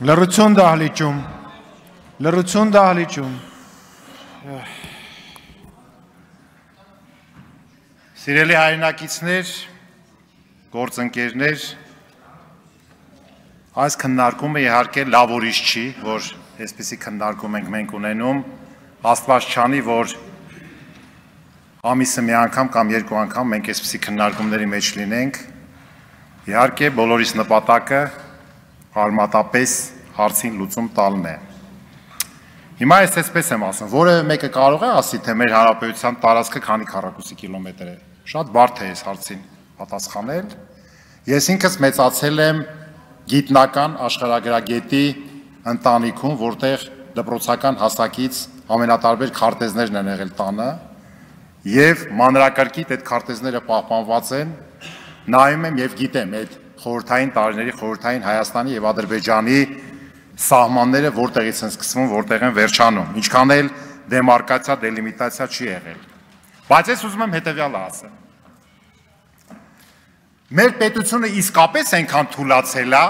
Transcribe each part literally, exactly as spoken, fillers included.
Լռություն դահլիճում, լռություն դահլիճում։ Սիրելի հայրենակիցներ, գործընկերներ, այս քննարկումը իհարկե լավ ուրիշ չի, որ այսպիսի քննարկում ենք մենք ունենում, Աստված չանի, որ ամիսը մի անգամ կամ երկու անգամ մենք այսպիսի քննարկումների մեջ լինենք, իհարկե բոլորիս նպատակը արմատապես հարցին լուծում տալն է։ Հիմա ես այսպես եմ ասում, որևէ մեկը կարող է ասի, թե մեր հանրապետության տարածքը քանի քառակուսի կիլոմետր է։ Շատ բարդ է այս հարցին պատասխանել։ Ես ինքս մեծացել եմ գիտնական աշխարհագրագետի ընտանիքում, որտեղ դպրոցական հասակից ամենատարբեր քարտեզներն են եղել տանը, եւ մանրակրկիտ այդ քարտեզները պահպանված են, նայում եմ եւ գիտեմ այդ խորհրդային տարիների խորհրդային Հայաստանի եւ Ադրբեջանի սահմանները որտեղից են սկսվում, որտեղ են վերջանում, ինչքան էլ դեմարկացիա, դելիմիտացիա չի եղել։ Բայց ես ուզում եմ հետեւյալը ասեմ։ Մեր պետությունը իսկապես այնքան թուլացել է,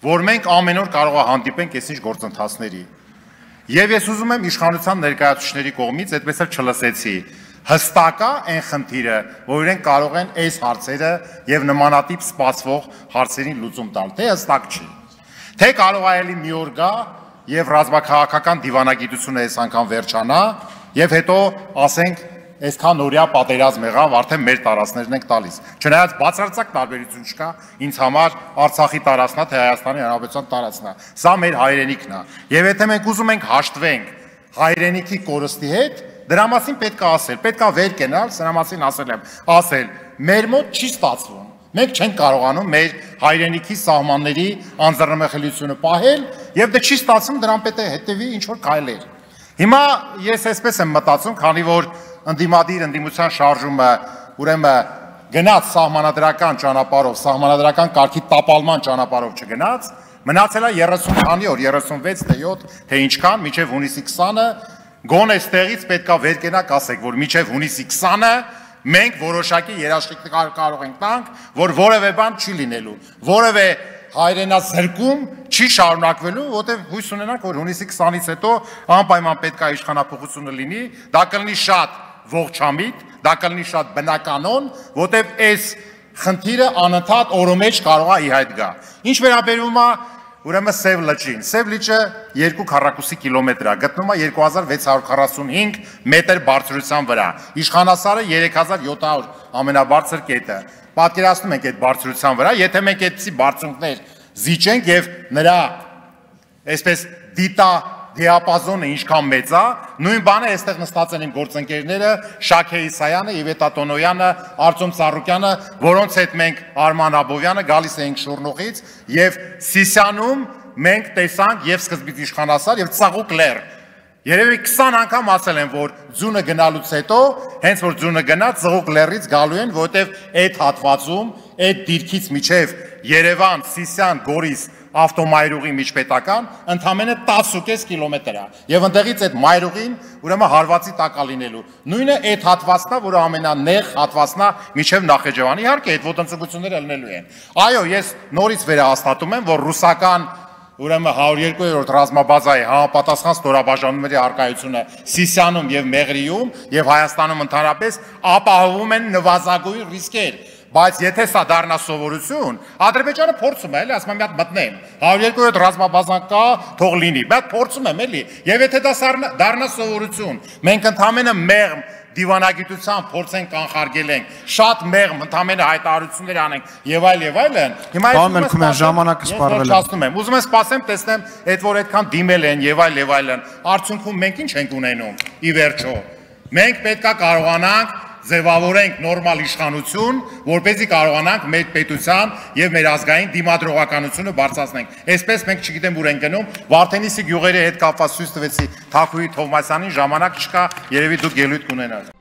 որ մենք ամեն օր կարող է հանդիպենք այսինչ գործընթացների։ Եվ ես ուզում եմ իշխանության ներկայացուցիչների կողմից այդպես էլ չլսեցի։ Հստակ է այն խնդիրը, որ իրենք կարող են այս հարցերը եւ նմանատիպ սպասվող հարցերին լուծում տալ, թե հստակ չի։ Թե կարող է ելի մի օր գա եւ ռազմաքաղաքական դիվանագիտությունը այս անգամ վերջանա եւ հետո ասենք այսքան օրյա պատերազմ եղավ, արդեն մեր տարածքներն ենք տալիս։ Չնայած բացարձակ տարբերություն չկա, ինձ համար Արցախի տարածքն է, թե Հայաստանի Հանրապետության տարածքն է։ Սա մեր հայրենիքն է։ Եվ եթե մենք ուզում ենք հաշտվենք հայրենիքի կորստի հետ, դրա մասին պետք է ասել, պետք է վեր կենալ, սրա մասին ասել եմ, ասել, մեր մոտ չի ստացվում։ Մենք չենք կարողանում մեր հայրենիքի սահմանների անձեռնմխելիությունը պահել, եւ դե չի ստացվում, դրան պետք է հետեւի ինչ որ քայլեր։ Հիմա ես այսպես եմ մտածում, քանի որ ընդդիմադիր ընդդիմության շարժումը ուրեմն գնաց սահմանադրական ճանապարհով, սահմանադրական կարգի տապալման ճանապարհով չգնաց, մնացել է երեսուն քանի օր, երեսունվեց թե յոթ, թե ինչքան, մինչև հունիսի քսանը, գոնե այստեղից պետք է վեր կենակ ասեք, որ մինչև հունիսի քսանը մենք որոշակի երաշխիք կարող ենք տանք, որ որևէ բան չի լինելու, որևէ հայրենազրկում չի շարունակվելու, որտեղ հույս ունենանք, որ հունիսի քսանից հետո անպայման պետք է իշխանափոխությունը լինի, դա կլինի շատ ողջամիտ, դա կլինի շատ բնականon, որտեղ այս խնդիրը անընդհատ օրը մեջ կարող է ի հայտ գա։ Ինչ վերաբերում է ուրեմն Սև լճին, Սև լիճը երկու քառակուսի կիլոմետր է, գտնվում է երկու հազար վեց հարյուր քառասունհինգ մետր բարձրության վրա, իշխանասարը երեք հազար յոթ հարյուր ամենաբարձր կետը։ Պատկերացնում ենք այդ բարձրության վրա, եթե մենք այդպիսի բարձունքներ զիջենք եւ նրա այսպես դիտա դիապազոնը ինչքան մեծ է, նույն բանը այստեղ նստած են իմ գործընկերները Շաքե Իսայանը, Իվետա Տոնոյանը, Արծում Ծառուկյանը, որոնց հետ մենք Արման Աբովյանը գալիս էինք Շուռնուղից եւ Սիսիանում մենք տեսանք եւ սկզբից իշխանասար եւ Ծաղուկ լեռ։ Երևի քսան անգամ ասել են, որ ձյունը գնալուց հետո, հենց որ ձյունը գնա, Ծաղուկ լեռից գալու են, որովհետեւ այդ հատվածում, այդ դիրքից միջև Երևան, Սիսիան, Գորիս ավտոմայրուղի միջպետական ընդամենը տասնուկես կիլոմետր է եւ ընդեղից այդ մայրուղին ուրեմն հարվածի տակ է լինելու նույնը այդ հատվածն է, որը ամենանեղ հատվածն է միջև Նախեջևանի, իհարկե այդ ոտնձգությունները լինելու են։ Այո, ես նորից վերահաստատում եմ, որ ռուսական ուրեմն հարյուր երկու-րդ ռազմաբազայի համապատասխան ստորաբաժանումների արկայությունը Սիսիանում եւ Մեղրիում եւ Հայաստանում ընդհանրապես ապահովում են նվազագույն ռիսկեր։ Բայց եթե սա դառնա սովորություն, Ադրբեջանը փորձում է, էլի, ասում եմ, մի հատ մտնեմ, հարյուր երկու ռազմաբազան կա, թող լինի, բայց փորձում եմ, էլի, եւ եթե դա դառնա սովորություն, մենք ընդամենը մեղմ դիվանագիտությամբ փորձենք կանխարգել ենք, շատ մեղմ ընդամենը հայտարարություններ անենք եւ այլ եւ այլն, հիմա ես ժամանակը սպառվել է։ Ուզում եմ սպասեմ, տեսնեմ, այդ որ այդքան դիմել են եւ այլ եւ այլն, արդյունքում մենք ինչ ենք ունենում, ի վերջո։ Մենք պետքա կարողանանք ձևավորենք նորմալ իշխանություն, որպեսզի կարողանանք մեր պետության եւ մեր ազգային դիմադրողականությունը բարձրացնենք։ Այսպես մենք չգիտեմ ուր ենք գնում, Վարդենիսի գյուղերի հետ կապված ցույց տվեցի Թաքուի Թովմասյանին, ժամանակ չկա, երևի դուք ելույթ կունենաք։